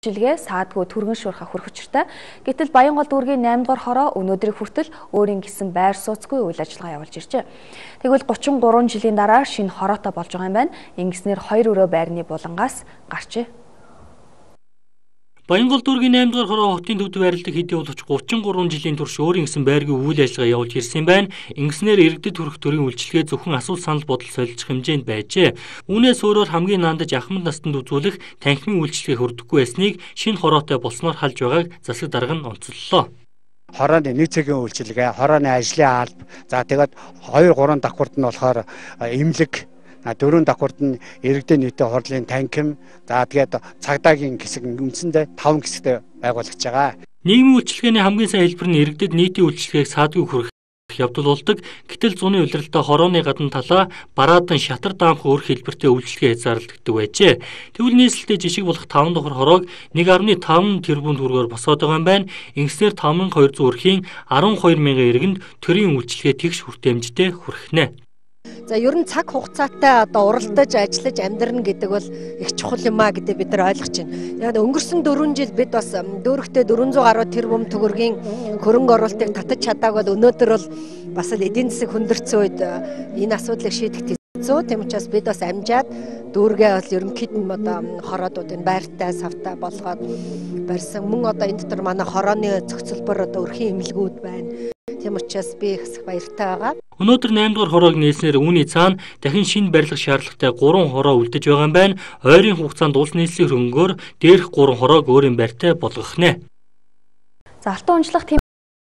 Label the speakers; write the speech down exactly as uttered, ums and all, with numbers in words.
Speaker 1: үйлчилгээ саадгүй түргэн шуурхаа хүрэх учиртай. Гэтэл Баянгол дүүргийн наймд дугаар хороо өнөөдрийг хүртэл өөрийн гэсэн байр сууцгүй үйл ажиллагаа явуулж иржээ. Тэгвэл гучин гурван жилийн дараа шинэ хороотой болж байгаа юм байна. Ингэснээр хоёр өрөө байрны булангаас гарчээ.
Speaker 2: Баянгол дүүргийн наймд дугаар хороо хотын төвд байрладаг хэдий боловч гучин гурван жилийн турш өөрийн гэсэн байргүй үйл ажиллагаа явуулж ирсэн байна. Ингэснээр иргэдэд хүрэх төрийн үйлчилгээ зөвхөн асуул санал бодол солилцох хэмжээнд байжээ. Үүнээс өөрөөр хамгийн наандаж ахмад настанд үзүүлэх танхимын үйлчилгээ хүрдэхгүй байсныг шинэ хороотой болсноор халж байгааг засаг дарга нь онцоллоо.
Speaker 3: Хорооны нэг цагийн үйлчилгээ, хорооны ажлын алба, за тэгээд хоёр гурван давхурд нь болохоор эмнэлэг, дөрөв давхурд нь иргэдийн нийтийн хурлын танхим, за тэгээд цагдаагийн хэсэг үндсэндээ таван хэсэгтэй байгуулагдж байгаа.
Speaker 2: Нийгмийн үйлчилгээний хамгийн сайн хэлбэр нь иргэдэд нийтийн үйлчилгээг саадгүй хүргэх явдал болдог. Гэтэл зуны улиралдаа хорооны гадна талаа бараадан шатар даамх өөр хэлбэртэй үйлчилгээ хязгаарлагддаг байжээ. Тэгвэл нийслэлтэй жишг болох таван давхар хороог нэг наран таван тэрбум төгрөгөөр босоод байгаа юм байна. Ингэснээр таван мянган хоёр жүз өрхийн арван хоёр мянган иргэнд төрийн үйлчилгээ тэгш хүртээмжтэй хүрхнэ.
Speaker 4: За ер нь цаг хугацаатай одоо уралдаж ажиллаж амьдрна гэдэг бол их чухал юм а гэдэг бид нар ойлгож байна. Яг өнгөрсөн дөрвөн жил бид бас дөөрөхтэй дөрвөн зуун гаруй тэрбум төгрөгийн хөрөнгө оруулалтыг татаж чадаагүй бол өнөөдөр бол бас л эдийн засаг хүндэрсэн үед энэ асуудлыг шийдэх хэцүү. Тийм учраас бид бас амжаад дүүргээ бол ерөнхийд нь одоо хороодуудын байртай савтай болгоод барьсан. Мөн одоо энэ дотор манай хорооны зохицолбор одоо өрхийн эмнэлгүүд байна. Тийм учраас би их баяртай байгаа.
Speaker 2: Өнөөдөр наймд дугаар хороог нээснээр үүний цаана дахин шинэ барилгах шаардлагатай гурван хороо үлдэж байгаа юм байна. Ойрын хугацаанд улс нийслэлийн хөрөнгөөр дээрх гурван хороог өөрийн байртай болгох нэ.
Speaker 1: За алтан унжлах